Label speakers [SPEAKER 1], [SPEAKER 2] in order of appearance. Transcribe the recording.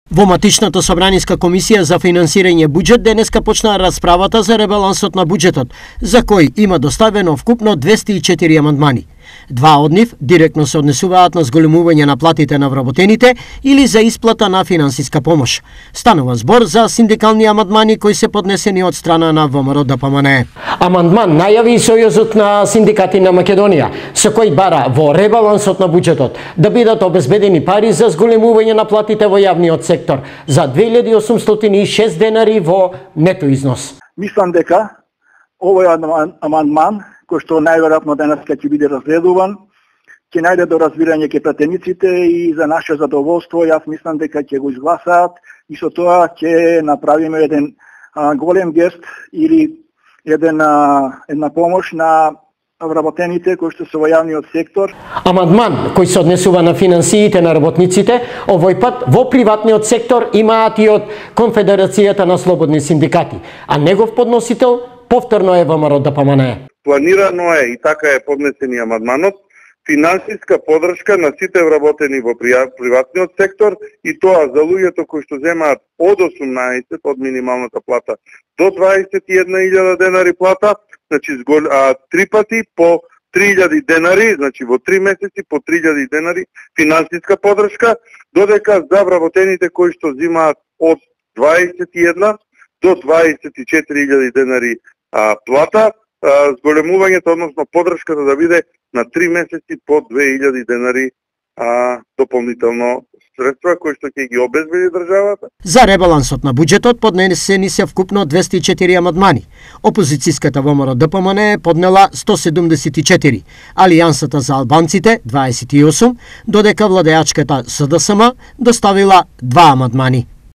[SPEAKER 1] Во матичната собраниска комисија за финансирање буџет денеска почна расправата за ребалансот на буџетот, за кој има доставено вкупно 204 амандмани. Два од нив директно се однесуваат на зголемување на платите на вработените или за исплата на финансиска помош. Станува збор за синдикални амандмани кои се поднесени од страна на ВМРО-ДПМНЕ.
[SPEAKER 2] Амандман најави и Сојузот на синдикати на Македонија, со кој бара во ребалансот на буџетот да бидат обезбедени пари за зголемување на платите во јавниот сектор за 2806 денари во нето износ.
[SPEAKER 3] Мислам дека овој амандман кој што најверојатно денес ќе биде разгледуван, ќе најде до разбирање ке пратениците и за наше задоволство, јас мислам дека ќе го изгласаат и со тоа ќе направиме еден голем гест или една помош на вработените кои што се во јавниот сектор.
[SPEAKER 2] Амандман кој се однесува на финансиите на работниците, овој пат во приватниот сектор имаат и од Конфедерацијата на слободни синдикати, а негов подносител повторно е ВМРО-ДПМНЕ.
[SPEAKER 4] Планирано е и така е поднесен и амандманот, финансиска поддршка на сите вработени во приватниот сектор и тоа за луѓето кои што земаат од 18 од минималната плата до 21.000 денари плата, значи 3 пати по 3.000 денари, значи во 3 месеци по 3.000 денари финансиска поддршка, додека за вработените кои што земаат од 21 до 24.000 денари плата, зголемувањето, односно поддршката да биде на 3 месеци по 2.000 денари дополнително средства кои што ќе ги обезбеди државата.
[SPEAKER 1] За ребалансот на буџетот поднесени се вкупно 204 амандмани. Опозицијската ВМРО-ДПМНЕ поднела 174, Алијансата за албанците 28, додека владеачката СДСМ доставила 2 амандмани.